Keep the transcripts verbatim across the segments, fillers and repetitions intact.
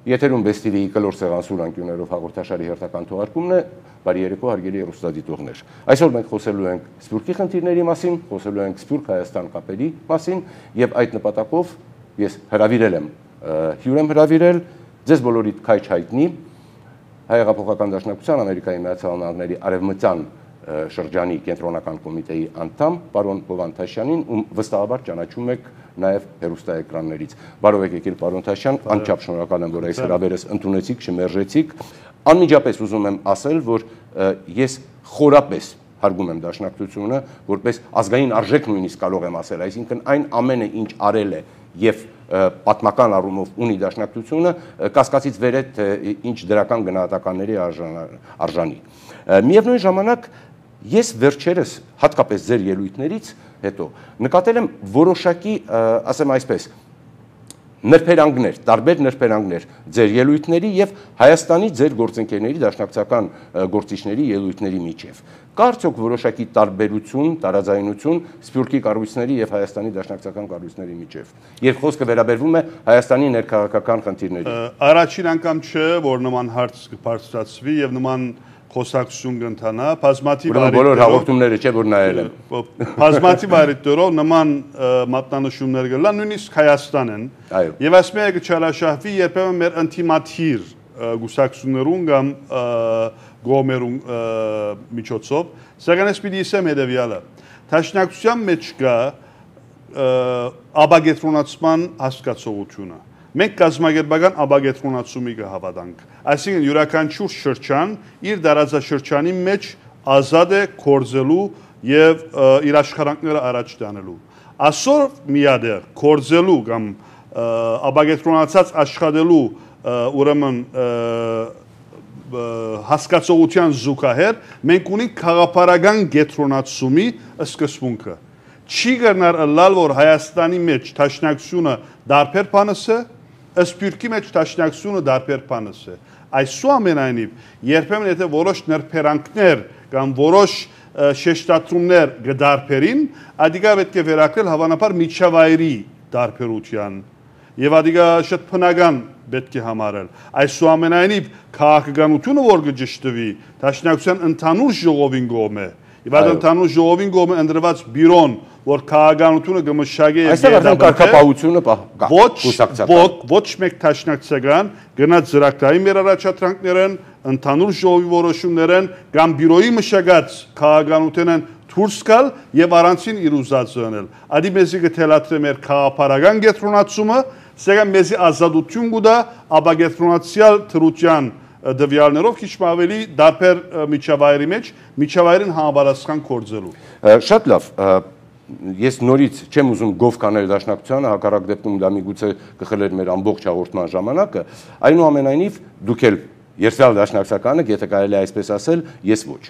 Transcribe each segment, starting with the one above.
Եթերում Բեստիվիի կլոր սեղանսուր անկյուններով հաղորդաշարի հերթական թողարկումն է, բարի երեկո հարգելի հեռուստադիտողներ։ Այսօր մենք խոսելու ենք Սփյուռքի խնդիրների մասին, խոսելու ենք Սփյուռք-Հայաստան կապերի մասին եւ այդ նպատակով ես հրավիրել եմ, հյուր եմ հրավիրել, ձեզ բոլորիդ քայչ հայտնի Հայ-Հեղափոխական Դաշնակցության Ամերիկայի Միացյալ Նահանգների Արևմտյան շրջանի կենտրոնական կոմիտեի անդամ պարոն Լևոն Թաշյանին, ում վստահաբար ճանաչում եք նաև հեռուստաէկրաններից։ Բարով եք եկել, պարոն Թաշյան, անչափ շնորհակալ եմ, որ այս հրավերս ընդունեցիք, չմերժեցիք։ Անմիջապես ուզում եմ ասել, որ ես խորապես հարգում եմ Դաշնակցությունը, որպես ազգային արժեք նույնիսկ կարող եմ ասել, այսինքն այն ամենը, ինչ արել է եւ պատմական առումով ունի Դաշնակցությունը, կասկածից վեր է, թե ինչ դրական գնահատականների արժանի։ Միևնույն ժամանակ ես վերջերս հատկապես ձեր ելույթներից հետո նկատել եմ որոշակի, ասեմ այսպես, նրբերանգներ, տարբեր նրբերանգներ ձեր ելույթների եւ Հայաստանի ձեր գործընկերների, դաշնակցական գործիչների ելույթների միջև։ Կա արդյոք որոշակի տարբերություն, տարաձայնություն Սփյուռքի կառույցների եւ Հայաստանի դաշնակցական կառույցների միջև։ Երբ խոսքը վերաբերվում է Հայաստանի ներքաղաքական խնդիրներին։ Առաջին անգամ չէ, որ նման հարց կբարձրացվի եւ նման խոսակցություն կընթանա, բազմաթիվ բոլոր հաղորդումները չէ, որ նայել եմ։ Բազմաթիվ այդտեղով նման մատնանշումներ կլան, նույնիսկ Հայաստանն։ Եվ այս մեկը չարաշահվի երբեմն մեր ինտիմատիր գուսակցություններուն կամ գոմերուն միջոցով, սակայն ես պիտի ասեմ հետևյալը։ Դաշնակցության մեջ կա աբագետրոնացման հասկացողությունը։ Մենք կազմակերպական աբագետրոնացումի կհավատանք։ Այսինքն յուրաքանչյուր շրջան իր դարաձաշրջանի մեջ ազատ է կորձելու եւ իր աշխատանքները առաջ տանելու։ Այսօր միադեղ կորձելու կամ աբագետրոնացած աշխատելու ուրեմն հասկացողության զուգահեռ մենք ունենք քաղաքապարական գետրոնացումի սկզբունքը։ Չի գնար լալ որ Հայաստանի մեջ դաշնակցությունը դարբեր բանս է, Սփյուռքի մեջ դաշնակցությունը դարբեր բանս է։ Այսուամենայնիվ, երբեմն եթե որոշ նրբերանգներ կամ որոշ շեշտադրումներ կդարբերին, ադիգա պետք է վերակրել հավանաբար միջավայրի դարբերության եւ ադիգա շատ բնական պետք է համարել։ Այսուամենայնիվ, քաղաքականությունը որ կճշտվի, դաշնակցության ընդհանուր ժողովին կողմ է։ Եվ այդ ընդհանուր ժողովին կողմ է ընտրված բյուրոն, որ քաղաքականությունը կմշակի եւ այստեղ արդեն կարգապահությունը ոչ մեկ դաշնակցական գնաց ծրագրային մեր առաջադրանքներն, ընդհանուր ժողովի որոշումներն կամ բյուրոյի մշակած քաղաքականությունն դուրս գալ եւ առանցին իր ուզածը անել։ Ադի մեզի կթելաթրե մեր քաղաքապարական գետրոնացումը, սակայն մեզի ազատություն կուտա աբագետրոնացիալ թրության դվյալներով քիչ ավելի դարբեր միջավայրի մեջ միջավայրին համապատասխան կորձելու։ Շատ լավ, ես նորից չեմ ուզում գով կանել Դաշնակցությանը, հակառակ դեպքում դա միգուցե կխլեր մեր ամբողջ հաղորդման ժամանակը, այնուամենայնիվ դուք էլ երթալ Դաշնակցականը, եթե կարելի է այսպես ասել, ես ոչ։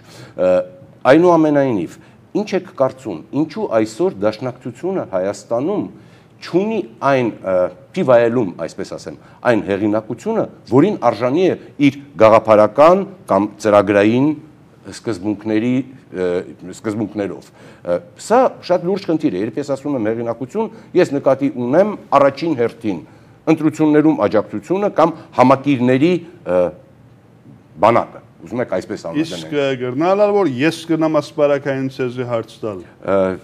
Այնուամենայնիվ, ինչ եք կարծում, ինչու այսօր Դաշնակցությունը Հայաստանում չունի այն պիվայելում, այսպես ասեմ, այն հեղինակությունը, որին արժանի է իր գաղափարական կամ ծրագրային սկզբունքների սկզբունքներով։ Սա շատ լուրջ խնդիր է, երբ ես ասում եմ հեղինակություն, ես նկատի ունեմ առաջին հերթին ընտրություններում աջակցությունը կամ համակիրների բանակը։ Ուզում եք այսպես անվանենք։ Իսկ գրնալալ որ ես կնամ ասպարակային ցեզի հարց տալ։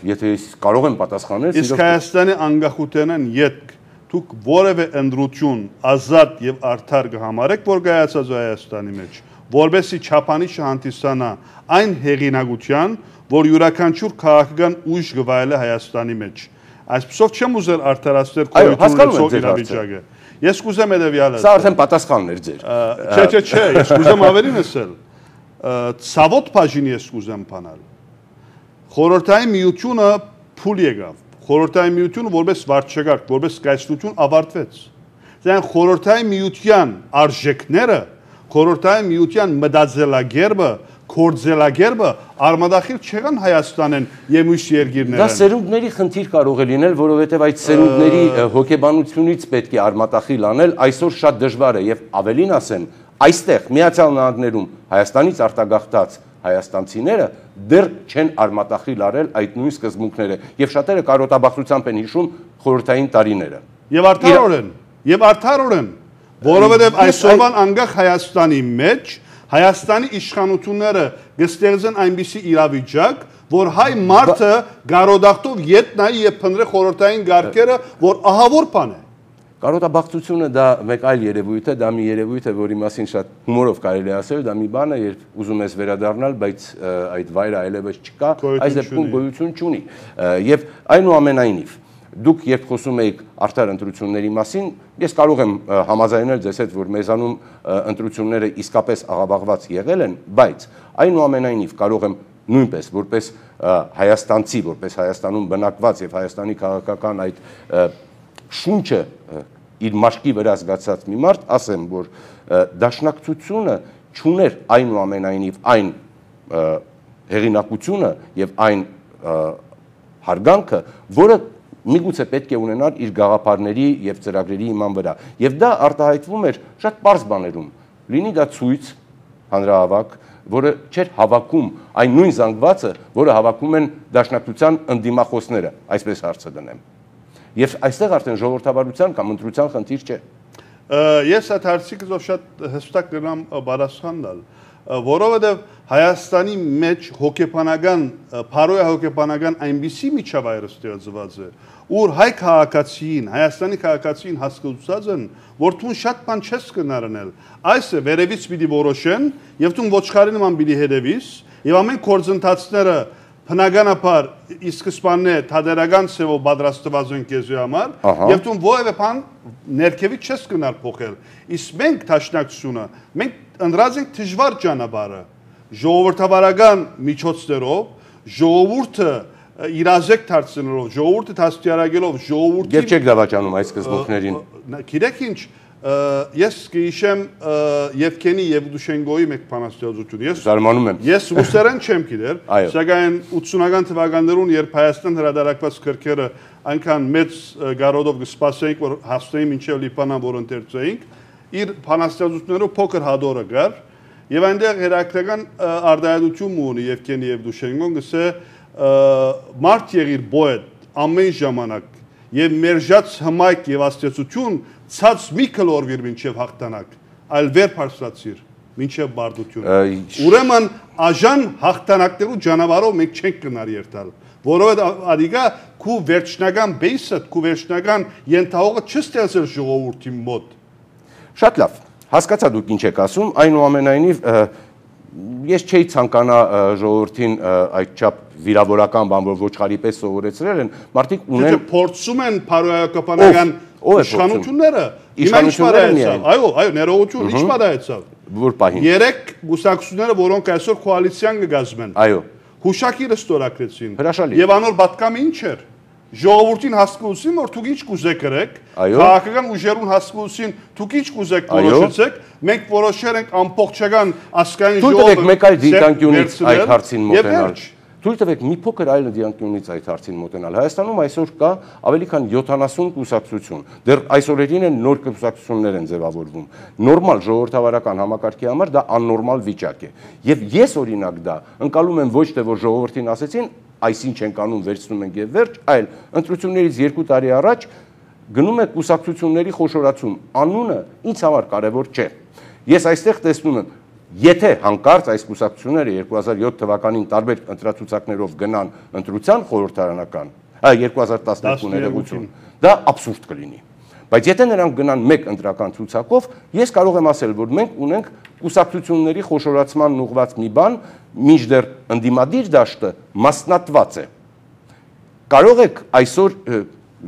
Եթե ես կարող եմ պատասխանել, իսկ Հայաստանի անկախությանն յետք դուք որևէ ընդրություն ազատ եւ արդար կհամարեք, որ կայացած Հայաստանի մեջ, որբեսի չափանիշը հանդիսանա այն հեղինակության, որ յուրաքանչյուր քաղաքական ուժ կվայելի Հայաստանի մեջ։ Այսպեսով չեմ ուզել արդարացնել կոալիցիոն իրավիճակը։ Ես կուզեմ հետևյալը։ Սա արդեն պատասխանն էր ձեր։ Չէ, չէ, չէ, ես կուզեմ ավելին ասել։ Ցավոտ բաժինի ես կուզեմ բանալ։ Խորհրդային միությունը փուլ եկավ։ Խորհրդային միությունը որպես վարչակարգ, որպես կայսրություն ավարտվեց։ Դրանք խորհրդային միության արժեքները, խորհրդային միության մտածելակերպը, կորձելակերպը արմադախիլ չեղան Հայաստանեն եւ մյուս երկիրներն։ Դա սերունդների խնդիր կարող է լինել, որովհետեւ այդ սերունդների հոգեբանությունից պետք է արմատախիլ անել, այսօր շատ դժվար է եւ ավելին ասեմ, այստեղ Միացյալ Նահանգներում Հայաստանից արտագաղթած հայաստանցիները դեռ չեն արմատախիլ արել այդ նույն սկզբունքները եւ շատերը կարոտաբախտությամբ են հիշում խորհրդային տարիները։ Եվ արդարորեն, եւ արդարորեն որովհետև այսօրվան անգախ Հայաստանի մեջ Հայաստանի իշխանությունները գստեղծեն այնպիսի իրավիճակ, որ հայ մարդը գարոդախտով ետ նայի եւ փնտրի խորհրդային գարկերը, որ ահավոր բան է։ Կարոտաբախտությունը դա մեկ այլ երևույթ է, դա մի երևույթ է, որի մասին շատ հումորով կարելի է ասել, դա մի բան է, երբ ուզում ես վերադառնալ, բայց այդ վայրը այլևս չկա, այս դեպքում գոյություն չունի։ Եվ այնուամենայնիվ, դուք երբ խոսում եք արդար ընտրությունների մասին, ես կարող եմ համաձայնել ձեզ հետ, որ մեզանում ընտրությունները իսկապես աղավաղված եղել են, բայց այնուամենայնիվ կարող եմ նույնպես որպես հայաստանցի, որպես Հայաստանում բնակված եւ Հայաստանի քաղաքական այդ շունչը իր մաշկի վրա զգացած մի մարդ, ասեմ, որ դաշնակցությունը չուներ այնուամենայնիվ այն հեղինակությունը եւ այն հարգանքը, որը միգուցե պետք է ունենար իր գաղափարների եւ ծրագրերի իման վրա։ Եվ դա արտահայտվում էր շատ պարզ բաներում։ Լինի դա ցույց հանրահավաք, որը չէր հավաքում այն նույն զանգվածը, որը հավաքում են դաշնակցության ընդդիմախոսները, այսպես հարցը դնեմ։ Եվ այստեղ արդեն ժողովրդավարության կամ ընտրության խնդիր չէ։ Ես այդ հարցիկով շատ հստակ կգամ պատասխան տալ, որովհետև Հայաստանի մեջ հոգեբանական, փարոյա հոգեբանական այնպիսի միջավայր ստեղծված է, ուր հայ քաղաքացին, Հայաստանի քաղաքացին հասկացած են, որ դու շատ բան չես կնարնել, այս է վերևից պիտի որոշեն, եւ դու ոչխարի նման պիտի հետևիս, եւ ամեն գործընթացները բնականաբար իսկսպանն է թադերական ցևով պատրաստված են քեզի համար, եւ դու ովևէ բան ներքևից չես կնար փոխել։ Իսկ մենք դաշնակցությունը, մենք ընդրած ենք դժվար ճանապարհը, ժողովրդավարական միջոցներով, ժողովուրդը իրազեկ դարձնելով, ժողովուրդը դաստիարակելով, ժողովուրդին Եվ չեք դավաճանում այս սկզբունքներին։ Գիտեք ինչ, ես կհիշեմ Եվգենի Եվդուշենկոյի մեկ բանաստեղծություն։ Ես զարմանում եմ։ Ես ռուսերեն չեմ գիտեր, սակայն ութսունական թվականներուն, երբ Հայաստան հրադարակված քրքերը այնքան մեծ գարոդով կսպասեինք, որ հասնեին մինչև Լիբանան, որ ընթերցեինք, իր բանաստեղծություններով փոքր հադորը գար, եւ այնտեղ հերակրական արտահայտություն ունի Եվգենի Եվդուշենկոն, գսե մարդ եղիր բոետ ամեն ժամանակ եւ մերժած հմայք եւ աստեցություն ցած մի կլորվիր մինչև հաղթանակ, այլ վեր փարսացիր մինչև բարդություն։ Ուրեմն աժան հաղթանակներու ճանապարհով մենք չենք կնար երթալ, որովհետեւ ադիգա քու վերջնական բեյսը, քու վերջնական ենթահողը չստեղծել ժողովրդի մոտ։ Շատ լավ, հասկացա դուք ինչ եք ասում, այնուամենայնիվ ես չէի ցանկանա ժողովրդին այդչափ վիրավորական բան, որ ոչխարի պես սովորեցրել են, մարդիկ ունեն փորձում են փարոյակապանական իշխանությունները, իշխանությունները, այո, այո, ներողություն, ինչ պատահեցավ։ Որ պահին։ Երեք գուսակցությունները, որոնք այսօր կոալիցիան կգազմեն։ Այո։ Հուշակիրը ստորագրեցին։ Հրաշալի։ Եվ անոր պատկամը ինչ էր։ Ժողովրդին հասկացին, որ դուք ինչ կուզեք գրեք, քաղաքական ուժերուն հասկացին, դուք ինչ կուզեք որոշեցեք, մենք որոշել ենք ամբողջական ասկային ժողովը։ Թույլ տվեք մեկ այլ դիտանկյունից այդ հարցին մոտենալ։ Թույլ տվեք մի փոքր այլ դիտանկյունից այդ հարցին մոտենալ։ Հայաստանում այսօր կա ավելի քան յոթանասուն կուսակցություն։ Դեռ այսօրերին են նոր կուսակցություններ են ձևավորվում։ Նորմալ ժողովրդավարական համակարգի համար դա աննորմալ վիճակ է։ Եվ ես օրինակ դա ընկալում եմ ոչ թե որ ժողովրդին ասեցին, այսինչ ենք անում, վերցնում ենք եւ վերջ, այլ ընտրություններից երկու տարի առաջ գնում է կուսակցությունների խոշորացում։ Անունը ինձ համար կարևոր չէ։ Ես այստեղ տեսնում եմ, եթե հանկարծ այս կուսակցությունները երկու հազար յոթ թվականին տարբեր ընտրացուցակներով գնան ընտրության խորհրդարանական, երկու հազար տասներկու ներողություն, դա աբսուրդ կլինի։ Բայց եթե նրանք գնան մեկ ընտրական ցուցակով, ես կարող եմ ասել, որ մենք ունենք կուսակցությունների խոշորացման ուղղված մի բան, մինչդեռ ընդդիմադիր դաշտը մասնատված է։ Կարող եք այսօր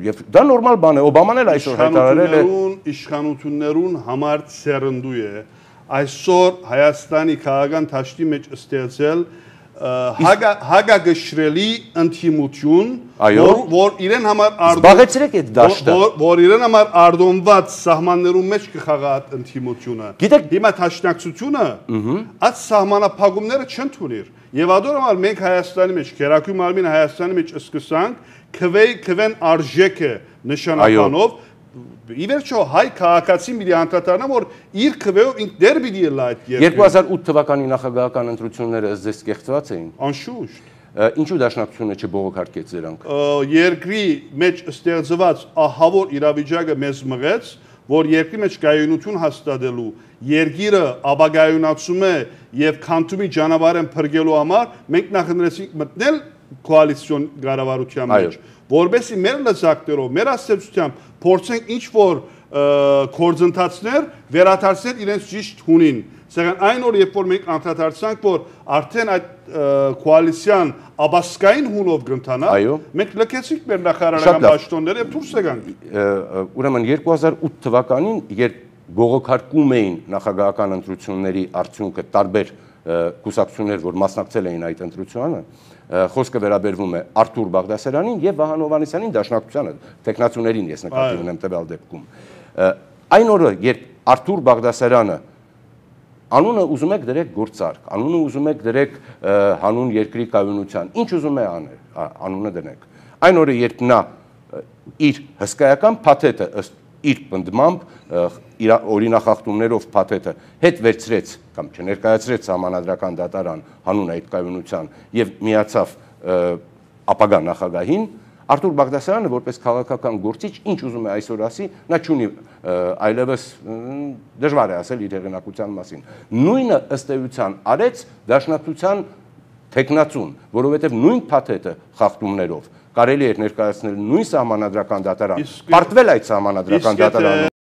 եւ դա նորմալ բան է, Օբաման էլ այսօր հայտարարել է իշխանություններուն համար սերնդու է այսօր Հայաստանի քաղաքական դաշտի մեջ ստեղծել հագագշրելի ընդդիմություն, որ իրեն համար զբաղեցրեք այդ դաշտը, որ իրեն համար արտոնված սահմաններում մեջ կխաղա այդ ընդդիմությունը։ Հիմա դաշնակցությունը այդ սահմանափակումները չընդունիր։ Եվ ադորոմալ մենք Հայաստանի մեջ, Քերակույն Մարմինը Հայաստանի մեջ սկսանք քվեն արժեքը նշանականով, ի վերջո հայ քաղաքացին պիտի անդրադառնա, որ իր քվեով ինք դեր պիտի ելա այդ երկրին։ երկու հազար ութ թվականի նախագահական ընտրությունները ըստ ձեզ կեղծված էին։ Անշուշտ։ Ինչու դաշնակցությունը չբողոքարկեց դրանք։ Երկրի մեջ ստեղծված ահավոր իրավիճակը մեզ մղեց, որ երկրի մեջ կայունություն հաստատելու, երկիրը ապագայունացում է եւ քանթումի ճանապարհն փրկելու համար մենք նախընտրեցինք մտնել կոալիցիոն կառավարության մեջ, որովհետեւ մեր լծակներով, մեր ասացությամբ փորձենք ինչ որ կորձընթացներ վերադարձնել իրենց ճիշտ հունին։ Սակայն այն օր, երբ որ մենք անդրադարձանք, որ արդեն այդ կոալիցիան աբասկային հունով կընթանա, մենք լքեցինք մեր նախարարական պաշտոնները եւ դուրս եկանք։ Ուրեմն երկու հազար ութ թվականին, երբ գողոքարկում էին նախագահական ընտրությունների արդյունքը տարբեր կուսակցություններ, որ մասնակցել էին այդ ընտրությանը, խոսքը վերաբերվում է Արթուր Բաղդասարյանին եւ Վահան Հովհաննիսյանին դաշնակցությանը, տեխնացուներին ես նկատի ունեմ տվյալ դեպքում։ Այն օրը, երբ Արթուր Բաղդասարյանը անունը ուզում եք դրեք գործարք, անունը ուզում եք դրեք հանուն երկրի կայունության, ինչ ուզում է անել, անունը դնեք։ Այն օրը, երբ նա իր հսկայական փաթեթը ըստ իր պնդմամբ իր օրինախախտումներով փաթեթը հետ վերցրեց կամ չներկայացրեց Սահմանադրական դատարան հանուն այդ կայունության եւ միացավ ապագա նախագահին, Արթուր Բաղդասարյանը որպես քաղաքական գործիչ ինչ ուզում է այսօր ասի, նա չունի այլևս դժվար է ասել իր հեղինակության մասին։ Նույնը ըստ էության արեց Դաշնակցության տեխնացուն, որովհետև նույն փաթեթը խախտումներով կարելի էր ներկայացնել նույն Սահմանադրական դատարան, պարտվել այդ Սահմանադրական դատարան